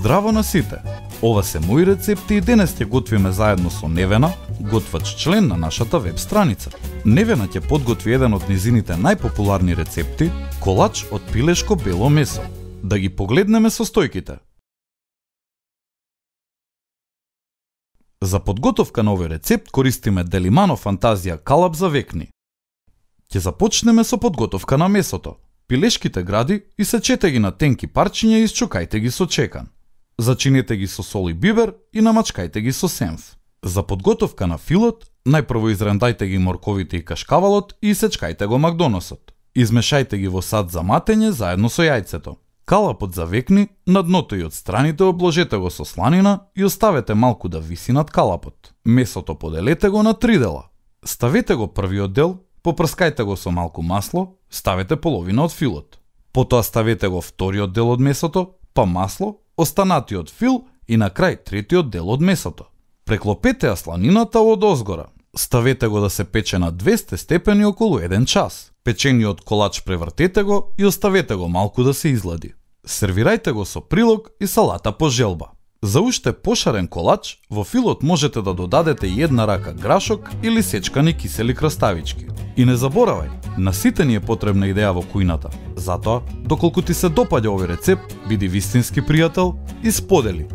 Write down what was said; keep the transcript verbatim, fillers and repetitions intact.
Здраво на сите! Ова се мои рецепти и денес ќе готвиме заедно со Невена, готвач член на нашата веб страница. Невена ќе подготви еден од незините најпопуларни рецепти, колач од пилешко бело месо. Да ги погледнеме состојките. За подготовка на овој рецепт користиме Делимано Фантазија калап за векни. Ќе започнеме со подготовка на месото. Пилешките гради исечете ги на тенки парчиња и исчукајте ги со чекан. Зачинете ги со сол и бибер и намачкајте ги со сенф. За подготовка на филот, најпрво изрендајте ги морковите и кашкавалот и исечкајте го макдоносот. Измешајте ги во сад за матење заедно со јајцето. Калапот за векни, на дното и од страните обложете го со сланина и оставете малку да виси над калапот. Месото поделете го на три дела. Ставете го првиот дел, попрскајте го со малку масло, ставете половина од филот. Потоа ставете го вториот дел од месото, па масло, останатиот фил и на крај третиот дел од месото. Преклопете ја сланината од озгора. Ставете го да се пече на двесте степени околу еден час. Печениот колач превртете го и оставете го малку да се излади. Сервирајте го со прилог и салата по желба. За уште пошарен колач, во филот можете да додадете една рака грашок или сечкани кисели краставички. И не заборавај, на сите ни е потребна идеја во кујната. Затоа, доколку ти се допаѓа овој рецепт, биди вистински пријател и сподели.